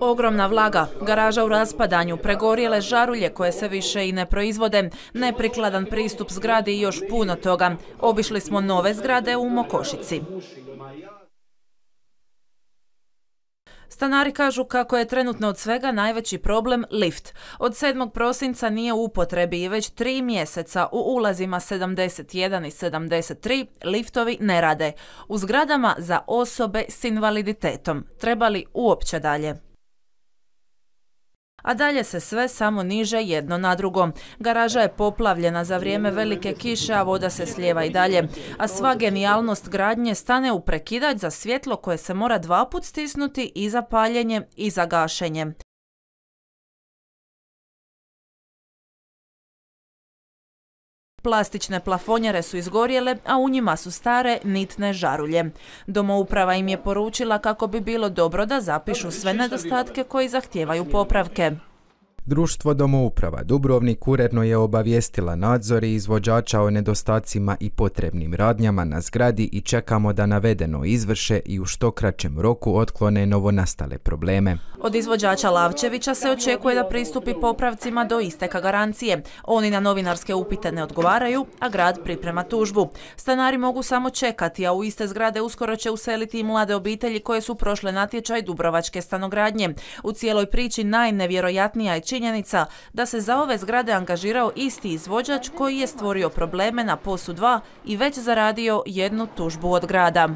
Ogromna vlaga, garaža u raspadanju, pregorjele žarulje koje se više i ne proizvode, neprikladan pristup zgradi i još puno toga. Obišli smo nove zgrade u Mokošici. Stanari kažu kako je trenutno od svega najveći problem lift. Od 7. prosinca nije u upotrebi i već 3 mjeseca u ulazima 71 i 73 liftovi ne rade. U zgradama za osobe s invaliditetom. Treba li uopće dalje? A dalje se sve samo niže jedno na drugo. Garaža je poplavljena za vrijeme velike kiše, a voda se slijeva i dalje. A sva genijalnost gradnje stane u prekidač za svjetlo koje se mora 2 put stisnuti i za paljenje i za gašenje. Plastične plafonjere su izgorjele, a u njima su stare nitne žarulje. Domouprava im je poručila kako bi bilo dobro da zapišu sve nedostatke koji zahtijevaju popravke. Društvo Domouprava Dubrovnik uredno je obavijestila nadzor i izvođača o nedostacima i potrebnim radnjama na zgradi i čekamo da navedeno izvrše i u što kraćem roku otklone novonastale probleme. Od izvođača Lavčevića se očekuje da pristupi popravcima do isteka garancije. Oni na novinarske upite ne odgovaraju, a grad priprema tužbu. Stanari mogu samo čekati, a u iste zgrade uskoro će useliti i mlade obitelji koje su prošle natječaj Dubrovačke stanogradnje. U cijeloj priči najnevjerojatnija je činjenica da se za ove zgrade angažirao isti izvođač koji je stvorio probleme na POS-u 2 i već zaradio 1 tužbu od grada.